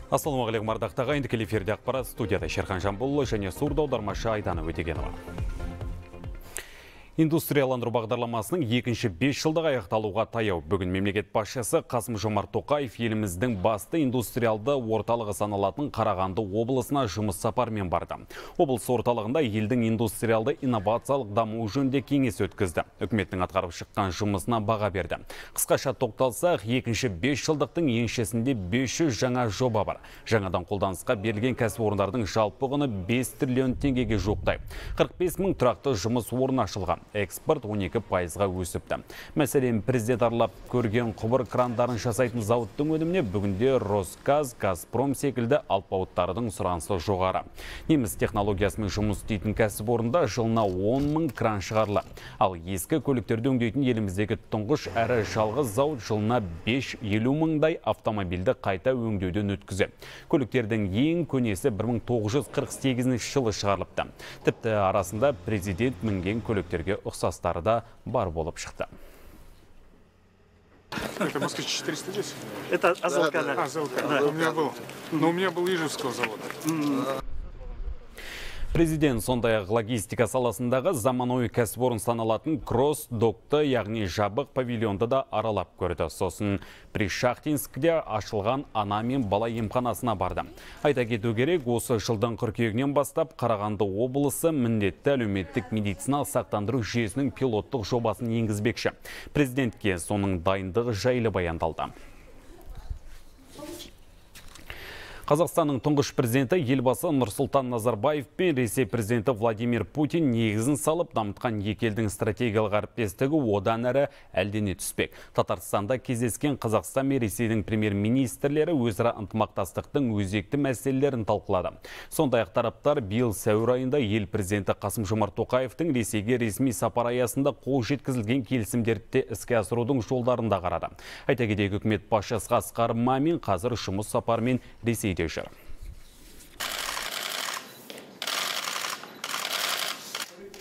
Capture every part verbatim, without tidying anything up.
Ассалаумағалейкум ардақты ағайын, тікелей эфирде ақпарат, студияда Шерхан Жамбулұлы және сурда аудармашы Айдана Өтегенова. Индустрияландыру бағдарламасының екінші бес жылдық аяқталуға таяу. Бүгін мемлекет басшысы Қасым-Жомарт Тоқаев еліміздің басты индустриалды орталығы саналатын Қарағанды облысына жұмыс сапармен барды. Облыс орталығында елдің индустриалды инновациялық дамуы жөнінде кеңес өткізді. Үкіметтің атқарып шыққан жұмысына баға берді. Қысқаша тоқталсақ, екінші бес жылдықтың еншісінде бес жүз жаңа жоба бар. Жаңадан қолданысқа берілген кәсіпорындардың жалпы құны бес триллион теңгеге жуықтайды. қырық бес мың тұрақты жұмыс орны ашылған. Экспорт он екі пайызға өсіпті. Мәселен, президент аралап көрген құбыр крандарын жасайтын зауыттың өніміне бүгінде Росгаз, Газпром секілді алпауыттардың сұранысы жоғары. Неміс технологиясымен жұмыс істейтін кәсіпорында жылына он мың кран шығарылады. Ал ескі көліктерді өңдейтін еліміздегі тұңғыш әрі жалғыз зауыт жылына бес жүз елу мыңдай автомобильді қайта өңдеуден өткізеді. Көліктердің ең көнесі бір мың тоғыз жүз қырық сегізінші жылы шығарылыпты. Тіпті арасында президент мінген көліктерге ұқсастары да бар болып шықты. Это Москвич четыреста десять? Это Азовка. Да, да. Азовка. Да. У меня был. Но у меня был Ижевского завода. Президент сондай-ақ логистика саласындағы заманауи кәсіпорын саналатын кросс-докты, яғни жабық павильонды да аралап көрді. Сосын Пришахтинскіде ашылған ана мен бала емханасына барды. Айта кету керек, осы жылдың қыркүйегінен бастап Қарағанды облысы міндетті әлеуметтік медициналық сақтандыру жүйесінің пилоттық жобасын енгізбекші. Президентке соның дайындығы жайлы баяндалды. Қазақстанның тұңғыш президенті елбасы Нұрсұлтан Назарбаев пен Ресей президенті Владимир Путин негізін салып дамытқан екі елдің стратегиялық әріптестігі одан әрі әлдене түспек. Татарстанда кездескен Қазақстан мен Ресейдің премьер-министрлері өзара ынтымақтастықтың өзекті мәселелерін талқылады. Сондай-ақ тараптар биыл сәуір айында ел президенті Қасым-Жомарт Тоқаевтың Ресейге ресми сапар аясында қол жеткізілген келісімдерді іске асырудың жолдарын да қарады. Айта кетейік, үкімет басшысы Асқар Мамин қазір жұмыс сапарымен Ресейде жүр.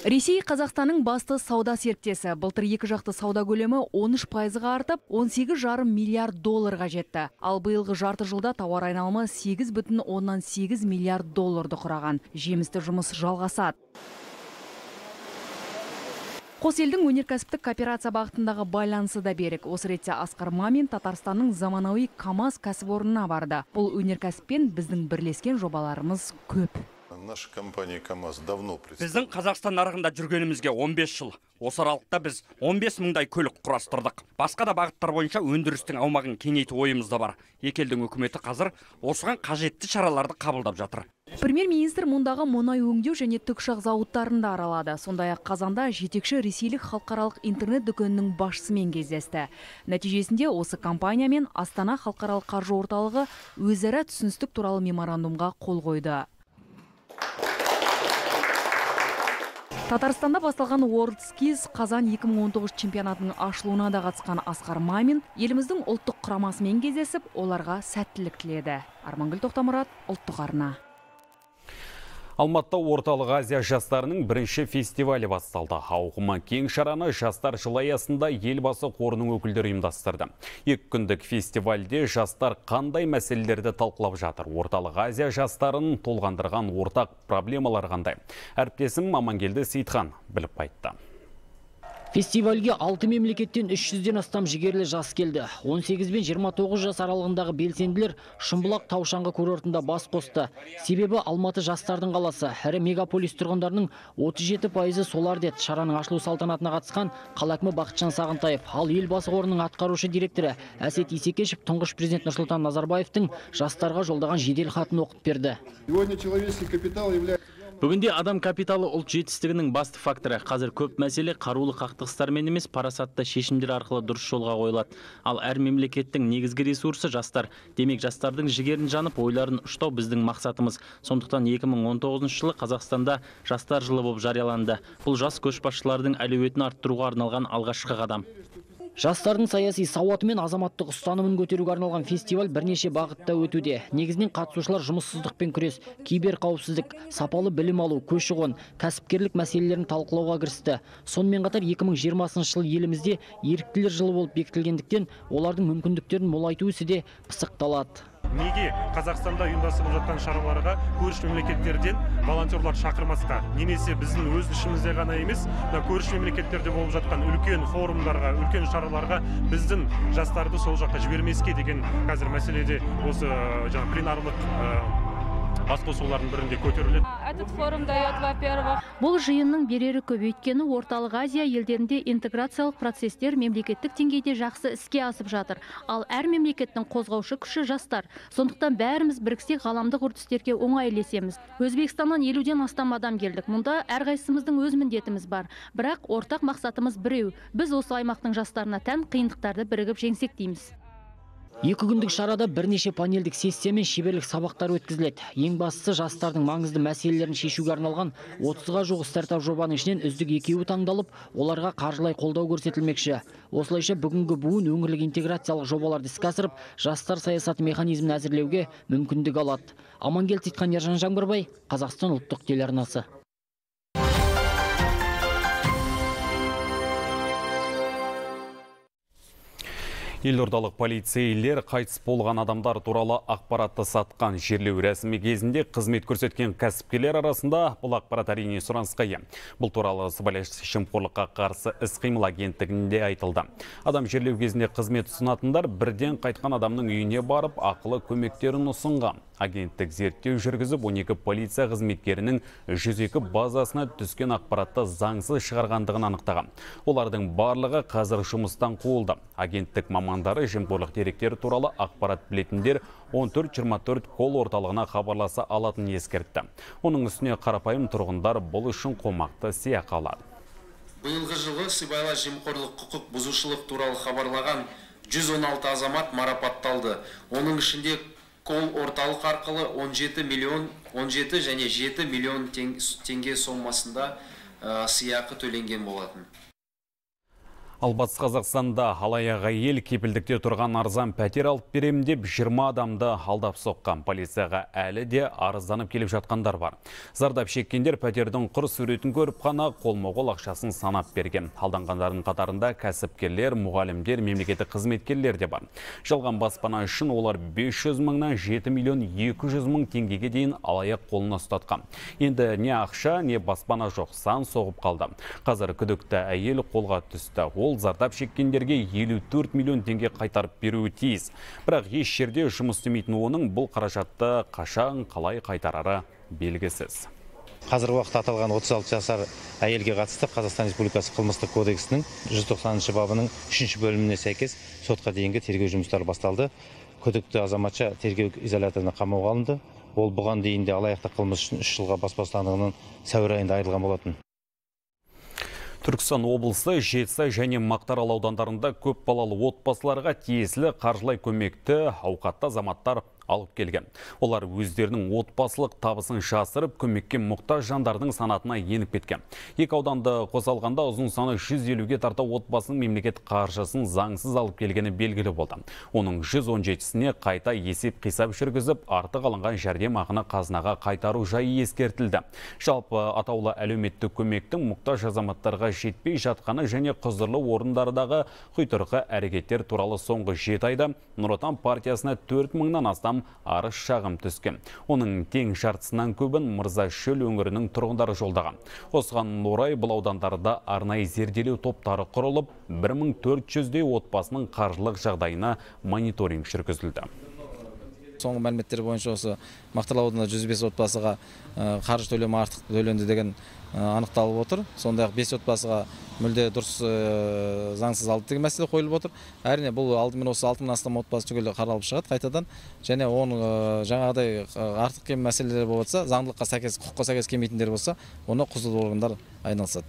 Ресей Қазақстанның басты сауда серіктесі. Былтыр екі жақты сауда көлемі он үш пайызға артып, он сегіз жарым миллиард долларға жетті. Ал биылғы жарты жылда тауар айналымы сегіз бүтін оннан сегіз миллиард долларды құраған. Жемісті жұмыс жалғасады. Қос елдің өнеркәсіптік кооперация бағытындағы байланысы да берік. Осы ретте Асқар Мамин Татарстанның заманауи КАМАЗ кәсіпорнына барды. Бұл өнеркәсіппен біздің бірлескен жобаларымыз көп. Наша компания КАМАЗ давно Біздің Қазақстан нарығында жүргенімізге он бес жыл. Осы аралықта біз он бес мыңдай көлік құрастырдық. Басқа да бағыттар бойынша өндірістің аумағын кеңейту ойымызда бар. Екі елдің үкіметі қазір осыған қажетті шараларды қабылдап жатыр. Премьер-министр мұндағы мұнай өңдеу және тікұшақ зауыттарында аралады. Сондай-ақ қазанда жетекші ресейлік халықаралық интернет дүкенінің басшысымен кездесті. Нәтижесінде осы компаниямен Астана халықаралық қаржы орталығы өзара түсіністік туралы меморандумға қол қойды. Татарстанда басталған WorldSkills қазан екі мың он тоғыз чемпионатының ашылуына да қатысқан Асқар Мамин еліміздің ұлттық құрамасымен кездесіп, оларға сәттілік тіледі. Армангүл Тоқтамұрат, ұлттық арна. Алматыда Орталық Азия жастарының бірінші фестивалі басталды. Ауқымы кең шараны жастар жылы аясында елбасы қорының өкілдері ұйымдастырды. Екі күндік фестивальде жастар қандай мәселелерді талқылап жатыр? Орталық Азия жастарын толғандырған ортақ проблемалар қандай? Әріптесім Амангелді Сейітхан біліп қайтты. Фестивальге алты мемлекеттен үш жүзден астам жігерлі жас келді. он сегіз бен жиырма тоғыз жас аралығындағы белсенділер Шымбұлақ таушаңғы курортында бас қосты. Себебі Алматы жастардың қаласы. Әрі мегаполис тұрғындарының отыз жеті пайызы солар деді. Шараның ашылу салтанатына қатысқан қала әкімі Бақытжан Сағынтаев. Ал елбасы қорының атқарушы директоры Әсет Исекешев тұңғыш президент Нұрсұлтан Назарбаевтың жастарға жолдаған жедел хатын оқып берді. Сегодня человеческий капитал является Бүгінде адам капиталы ұлт жетістігінің басты факторы. Қазір көп мәселе қарулы қақтығыстармен емес, парасатты шешімдер арқылы дұрыс жолға қойылады. Ал әр мемлекеттің негізгі ресурсы жастар. Демек, жастардың жігерін жанып, ойларын ұштау біздің мақсатымыз. Сондықтан екі мың он тоғызыншы жылы Қазақстанда жастар жылы болып жарияланды. Бұл жас көшбасшылардың әлеуетін арттыруға арналған алғашқы қадам. Жастардың саяси сауаты мен азаматтық ұстанымын көтеруге арналған фестиваль бірнеше бағытта өтуде. Негізінен қатысушылар жұмыссыздықпен күрес, кибер қауіпсіздік, сапалы білім алу, көші-қон, кәсіпкерлік мәселелерін талқылауға кірісті. Сонымен қатар екі мың жиырмасыншы жыл елімізде еріктілер жылы болып бекітілгендіктен, олардың мүмкіндіктерін молайту ісі де пысықталады. Неге Қазақстанда ұйымдастырылып жатқан шараларға көрші мемлекеттерден волонтерлар шақырмасқа? Немесе біздің өз ішімізде ғана емес, көрші мемлекеттерде болып жатқан үлкен форумдарға, үлкен шараларға біздің жастарды сол жаққа жібермеске деген қазір мәселеде осы жаңа пленарлық басқосулардың бірінде көтеріледі. Этот форум дает, во-первых, Бұл жиынның берері көп, өйткені Орталық Азия елдерінде интеграциялық процестер мемлекеттік деңгейде жақсы іске асып жатыр. Ал әр мемлекеттің қозғаушы күші жастар. Сондықтан бәріміз біріксек ғаламдық үрдістерге оңай ілесеміз. Өзбекстаннан елуден астам адам келдік. Мұнда әрқайсымыздың өз міндетіміз бар. Бірақ ортақ мақсатымыз біреу. Біз осы аймақтың жастарына тән қиындықтарды бірігіп жеңсек дейміз. Екі күндік шарада бірнеше панельдік сессия мен шеберлік сабақтар өткізіледі. Ең бастысы жастардың маңызды мәселелерін шешуге арналған отызға жуық стартап жобаның ішінен үздік екеуі таңдалып, оларға қаржылай қолдау көрсетілмекші. Осылайша бүгінгі буын өңірлік интеграциялық жобаларды іске асырып, жастар саясаты механизмін әзірлеуге мүмкіндік алады. Амангелді Титқан, Ержан Жаңбырбай, Қазақстан ұлттық телеарнасы. Елордалық полицейлер қайтыс болған адамдар туралы ақпаратты сатқан жерлеу рәсімі кезінде қызмет көрсеткен кәсіпкерлер арасында бұл ақпарат әрине сұранысқа ие. Бұл туралы сыбайлас жемқорлыққа қарсы іс-қимыл агенттігінде айтылды. Адам жерлеу кезінде қызмет ұсынатындар бірден қайтқан адамның үйіне барып ақылы көмектерін ұсынған. Агенттік зерттеу жүргізіп, он екі полиция қызметкерінің жүз екі базасына түскен ақпаратты заңсыз шығарғандығын анықтаған. Олардың барлығы қазір жұмыстан қуылды. Агенттік мамандары жемқорлық деректері туралы ақпарат білетіндер он төрт жиырма төрт кол орталығына хабарласа алатынын ескертті. Оның үстіне қарапайым тұрғындар бұл үшін қомақты сыйақы алады. Биылғы жылы сыбайлас жемқорлық құқық бұзушылық туралы хабарлаған жүз он алты азамат марапатталды. Оның ішінде кол орталық арқылы он жеті миллион он жеті және жеті миллион теңге сомасында сыйақы төленген болатын. Ал Батыс Қазақстанда алаяқ әйел кепілдікте тұрған арзан пәтер алып берем деп жиырма адамды алдап соққан. Полицияға әлі де арызданып келіп жатқандар бар. Зардап шеккендер пәтердің құр суретін көріп қана қолма-қол ақшасын санап берген. Алданғандардың қатарында кәсіпкерлер, мұғалімдер, мемлекеттік қызметкерлер де бар. Жалған баспана үшін олар бес жүз мыңнан жеті миллион екі жүз мың теңгеге дейін алаяқ қолына ұстатқан. Енді не ақша, не баспана жоқ, сан соғып қалды. Қазір күдікті әйел қолға түсті. Ол зардап шеккендерге елу төрт миллион теңге қайтарып беруі тиіс. Бірақ еш жерде жұмыс істемейтін оның бұл қаражатты қашан қалай қайтарары белгісіз. Қазіргі уақытта аталған отыз алты жасар әйелге қатысты Қазақстан Республикасы қылмыстық кодексінің жүз тоқсаныншы бабының үшінші бөліміне сәйкес сотқа дейінгі тергеу жұмыстары басталды. Күдікті азаматша тергеу изоляторына қамауға алынды. Ол бұған дейін де алаяқтық қылмыс үшін үш жылға бас бостандығынан сәуір айында айырылған болатын. Түркістан облысы Жетісай және Мақтаарал аудандарында көп балалы отбасыларға тиесілі қаржылай көмекті ауқатты азаматтар алып келген. Олар өздерінің отбасылық табысын жасырып, көмекке мұқтаж жандардың санатына еніп кеткен. Екі ауданды қоса алғанда ұзын саны жүз елуге тарта отбасының мемлекет қаржысын заңсыз алып келгені белгілі болды. Оның жүз он жетісіне қайта есеп қисап жүргізіп, артық алынған жәрдемақыны қазынаға қайтару жайы ескертілді. Жалпы атаулы әлеуметтік көмектің мұқтаж азаматтарға жетпей жатқаны және құзырлы орындардағы құйтырқы әрекеттер туралы соңғы жеті айда Нұр Отан партиясына төрт мыңнан астам арыз шағым түскен. Оның тең жартысынан көбін Мырзашөл өңірінің тұрғындары жолдаған. Осыған орай бұл аудандарда арнайы зерделеу топтары құрылып, бір мың төрт жүздей отбасының қаржылық жағдайына мониторинг жүргізілді. Соңғы мәліметтер бойынша осы Мақтаарал ауданында жүз бес отбасыға қаржы төлемі артық төленді деген анықталып отыр. Сондай-ақ бес отбасыға мүлде дұрыс заңсыз алды деген мәселе қойылып отыр. Әрине бұл алдымен осы алты мыңнан астам отбасы түгел қаралып шығады қайтадан. Және оның жаңағыдай артық кем мәселелер болса, заңдылыққа сәйкес, құқыққа сәйкес келмейтіндер болса, оны құзырлы органдар айналысады.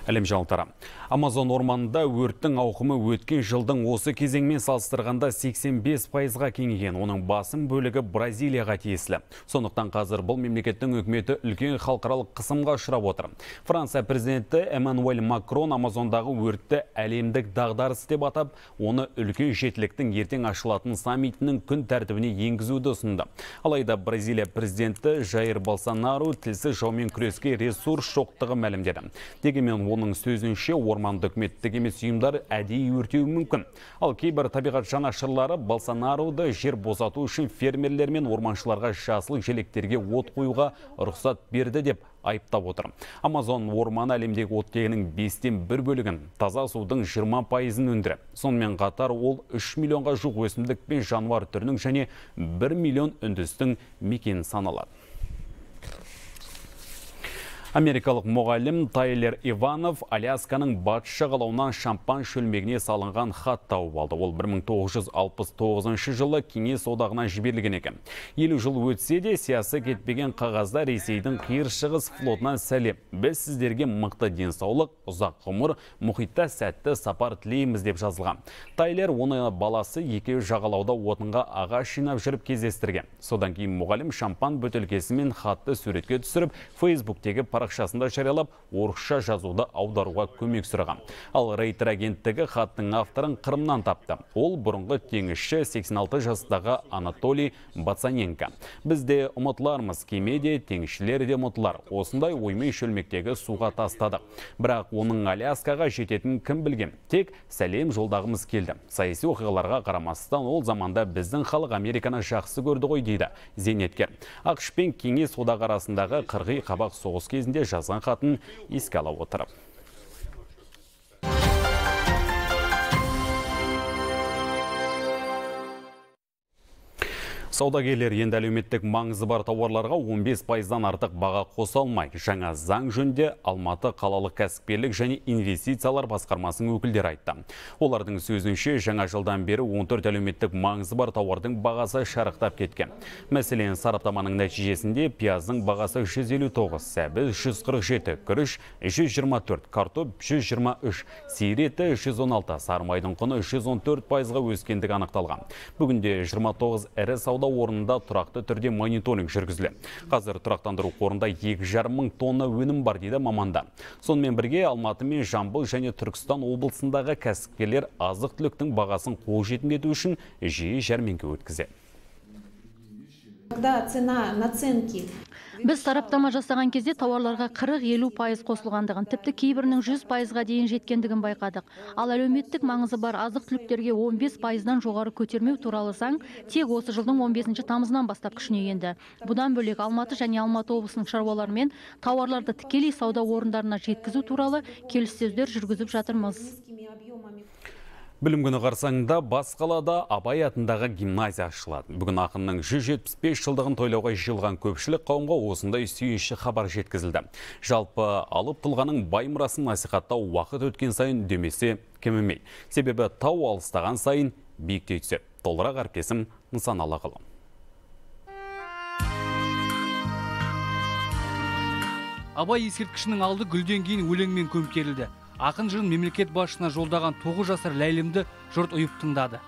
Әлем жаңалықтары. Амазон орманында өрттің ауқымы өткен жылдың осы кезеңмен салыстырғанда сексен бес пайызға кеңейген. Оның басым бөлігі Бразилияға тиесілі. Сондықтан қазір бұл мемлекеттің үкіметі үлкен халықаралық қысымға ұшырап отыр. Франция президенті Эммануэль Макрон Амазондағы өртті әлемдік дағдарыс деп атап, оны үлкен жетіліктің ертең ашылатын саммитінің күн тәртібіне енгізуді ұсынды. Алайда Бразилия президенті Жаир Болсонару тілсіз жаумен күреске ресурс жоқтығы мәлімдеді. Дегенмен оның сөзінше орманды үкіметтік емес ұйымдар әдейі өртеуі мүмкін. Ал кейбір табиғат жанашырлары Болсонароды жер босату үшін фермерлер мен орманшыларға жасыл желектерге от қоюға рұқсат берді деп айыптап отыр. Амазон орманы әлемдегі оттегінің бестен бір бөлігін, таза судың жиырма пайызын өндіріп. Сонымен қатар ол үш миллионға жуық өсімдік пен жануар түрінің және бір миллион үндістің мекені саналады. Америкалық мұғалім Тайлер Иванов Алясканың батыс жағалауынан шампан шөлмегіне салынған хат тауып алды. Ол бір мың тоғыз жүз алпыс тоғызыншы жылы Кеңес одағынан жіберілген екен. Елу жыл өтсе де сиясы кетпеген қағазда Ресейдің қиыр шығыс флотынан сәлем. Біз сіздерге мықты денсаулық, ұзақ ғұмыр, мұхитта сәтті сапар тілейміз деп жазылған. Тайлер оны баласы екеуі жағалауда отынға ағаш жинап жүріп кездестірген. Содан кейін мұғалім шампан бөтелкесімен хатты суретке түсіріп, Фейсбуктегі парақшасында жариялап, орысша жазуды аударуға көмек сұраған. Ал Рейтер агенттігі хаттың авторын Қырымнан тапты. Ол бұрынғы теңізші сексен алты жастағы Анатолий Бацаненко. Бізде ұмытылармыз, кемеде теңізшілер де ұмытылар. Осындай оймай шөлмектегі суға тастады. Бірақ оның Аляскаға жететін кім білген? Тек сәлем жолдағымыз келді. Саяси оқиғаларға қарамастан ол заманда біздің халық Американы жақсы көрді ғой дейді зейнеткер. ақш пен Кеңес одағы арасындағы қырғи қабақ соғыс кезінде жазған хатын еске ала отырып. Саудагерлер енді әлеуметтік маңызы бар тауарларға он бес пайыздан артық баға қоса алмай. Жаңа заң жөнінде Алматы қалалық кәсіпкерлік және инвестициялар басқармасының өкілдері айтты. Олардың сөзінше жаңа жылдан бері он төрт әлеуметтік маңызы бар тауардың бағасы шарықтап кеткен. Мәселен, сараптаманың нәтижесінде пияздың бағасы жүз елу тоғыз, сәбіз жүз қырық жеті, күріш жүз жиырма төрт, картоп жүз жиырма үш, сиыр еті жүз он алты, сарымайдың құны жүз он төрт пайызға өскендігі анықталған. Бүгінде жиырма тоғыз ірі сауда орнында тұрақты түрде мониторинг жүргізілді. Қазір тұрақтандыру қорында екі жарым мың тонна өнім бар дейді мамандар. Сонымен бірге Алматы мен Жамбыл және Түркістан облысындағы кәсіпкерлер азық-түліктің бағасын қолжетімді ету үшін жиі жәрмеңке өткізеді. Когда цена наценки Біз сараптама жасаған кезде тауарларға қырық-елу пайыз қосылғандығын, тіпті кейбірінің жүз пайызға дейін жеткендігін байқадық. Ал әлеуметтік маңызы бар азық-түліктерге он бес пайыздан жоғары көтермеу туралы заң тек осы жылдың он бесінші тамызынан бастап күшіне енді. Бұдан бөлек Алматы және Алматы облысының шаруаларымен тауарларды тікелей сауда орындарына жеткізу туралы келіссөздер жүргізіп жатырмыз. Білім күні қарсаңында бас қалада Абай атындағы гимназия ашылады. Бүгін ақынның жүз жетпіс бес жылдығын тойлауға жиылған көпшілік қауымға осындай сүйінші хабар жеткізілді. Жалпы алып тұлғаның бай мұрасын насихаттау уақыт өткен сайын демесе кемімей. Себебі тау алыстаған сайын биіктей түседі. Толығырақ әріптесім Нысаналы Ғылым. Абай ескерткішінің алды гүлден кейін өлеңмен көмкерілді. Ақын жырын мемлекет басшысына жолдаған тоғыз жасар Ләйлімді жұрт ұйып тыңдады.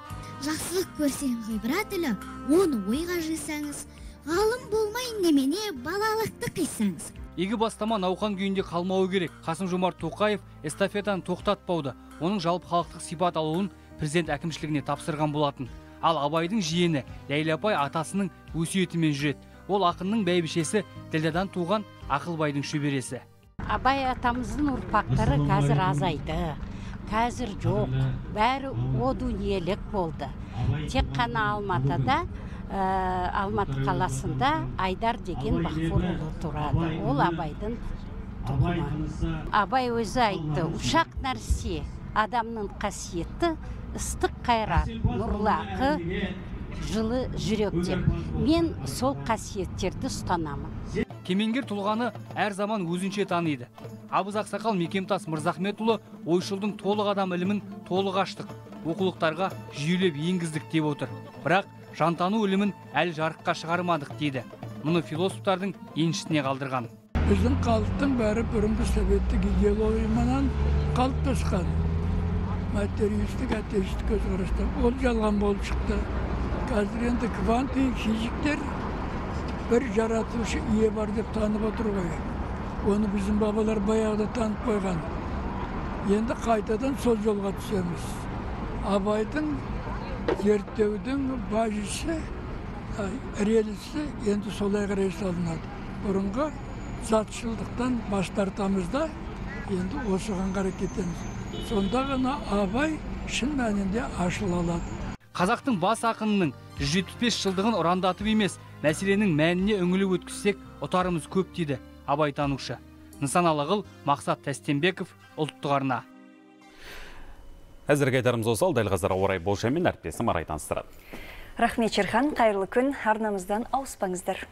Жақсылық көрсең ғибрат ілі, оны ойға жисаңыз, ғалым болмай немене балалықты қисаңыз. Игі бастама науқан күйінде қалмауы керек. Қасым-Жомарт Тоқаев эстафетаны тоқтатпауды, оның жалпы халықтық сипат алуын президент әкімшілігіне тапсырған болатын. Ал Абайдың жиені Ләйлі апай атасының өсиетімен жүреді. Ол ақынның бәйбішесі Ділдадан туған Ақылбайдың шөбересі. Абай атамыздың ұрпақтары қазір азайды, қазір жоқ, бәрі о дүниелік болды. Тек қана Алматыда, Алматы қаласында Айдар деген Бақфор ұлы тұрады. Ол Абайдың тұғымы. Абай өзі айтты, ұшақ нәрсе, адамның қасиеті, ыстық қайрат, нұрлақы, жылы жүрек деп. Мен сол қасиеттерді ұстанамын. Кемеңгер тұлғаны әр заман өзінше таниды. Абыз Ақсақал Мекемтас Мырзахметұлы ойшылдың толық адам ілімін толық аштық, оқулықтарға жүйелеп енгіздік деп отыр. Бірақ жантану ілімін әлі жарыққа шығармадық дейді. Мұны философтардың еншісіне қалдырған. Біздің халықтың бәрі бұрынғы советтік идеологиядан қалыптасқан. Материалистік, атеистік көзқарастан ол жалған болып шықты. Қазір енді кванттық физиктер бір жаратушы ие бар деп танып отыр ғой. Оны біздің бабалар баяғыда танып қойған. Енді қайтадан сол жолға түсеміз. Абайдың зерттеудің бажысы, релісі енді солай қарай салынады. Бұрынғы затшылдықтан бас тартамыз да, енді осыған қарай кетеміз. Сонда ғана абай шын мәнінде ашыла алады. Қазақтың бас ақынының жүз жетпіс бес жылдығын ұрандатып емес, мәселенің мәніне үңіліп өткізсек, ұтарымыз көп дейді абайтанушы. Нысаналы қыл Мақсат Тәстенбеков, ұлттық арна. Әзірге айтарымыз осы, дәл қазір ауа райы болжамымен әріптесім Арай таныстырады. Рахмет Шерхан, қайырлы күн, арнамыздан ауыспаңыздар.